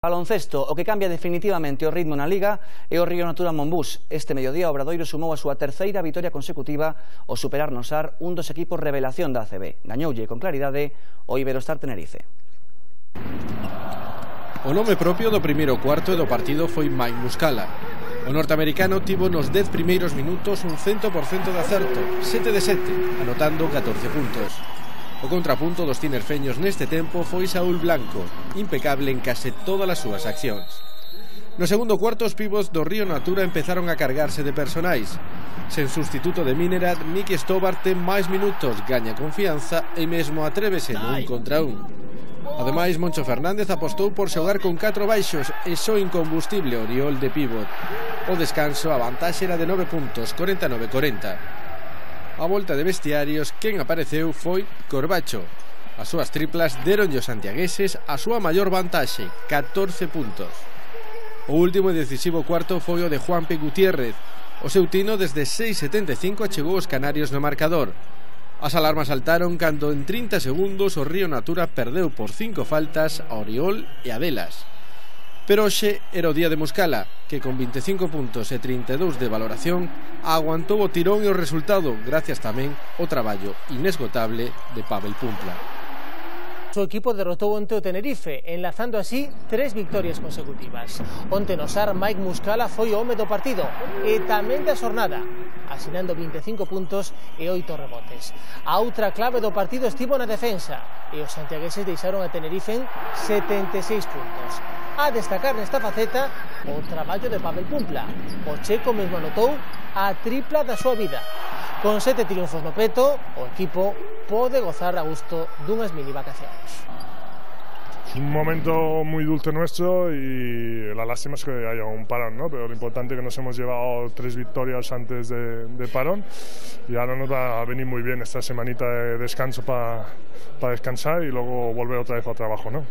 Baloncesto, o que cambia definitivamente o ritmo na Liga é o Río Natura Monbús. Este mediodía o Obradoiro sumou a súa terceira vitoria consecutiva ao superar no SAR un dos equipos revelación da ACB. Gañoulle con claridade o Iberostar Tenerife. O nome propio do primeiro cuarto e do partido foi Mike Muscala. O norteamericano tivo nos 10 primeiros minutos un 100% de acerto, 7 de 7, anotando 14 puntos. O contrapunto dos tinerfeños neste tempo foi Saúl Blanco, impecable en case todas as súas accións. No segundo cuarto, os pivos do Río Natura empezaron a cargarse de personais. Sen sustituto de Minerat, Nick Stobart ten máis minutos, gaña confianza e mesmo atrévese nun contra un. Ademais, Moncho Fernández apostou por xogar con 4 baixos e só incombustible Oriol de pívot. O descanso, a vantaxe era de 9 puntos, 49-40. A volta de vestiarios, quen apareceu foi Corbacho. As súas triplas deronlle os santiagueses a súa maior vantaxe, 14 puntos. O último e decisivo cuarto foi o de Juanpe Gutiérrez. O seu tino desde 6,75 chegou os canarios no marcador. As alarmas saltaron cando en 30 segundos o Río Natura perdeu por 5 faltas a Oriol e a Delas. Pero hoxe era o día de Muscala, que con 25 puntos e 32 de valoración aguantou o tirón e o resultado gracias tamén ao traballo inesgotable de Pavel Pumpla. O equipo derrotou onte o Tenerife, enlazando así 3 victorias consecutivas. Onte no SAR, Mike Muscala foi o home do partido e tamén da xornada, asinando 25 puntos e 8 rebotes. A outra clave do partido estivo na defensa e os santiagueses deixaron a Tenerife en 76 puntos. A destacar nesta faceta o traballo de Pavel Pumpla. O checo mesmo anotou a tripla da súa vida. Con 7 triunfos no peto, o equipo pode gozar a gusto dunhas mini vacaciones. Es un momento muy dulce nuestro y la lástima es que haya un parón, ¿no? Pero lo importante es que nos hemos llevado 3 victorias antes de parón y ahora nos va a venir muy bien esta semanita de descanso para descansar y luego volver otra vez al trabajo, ¿no?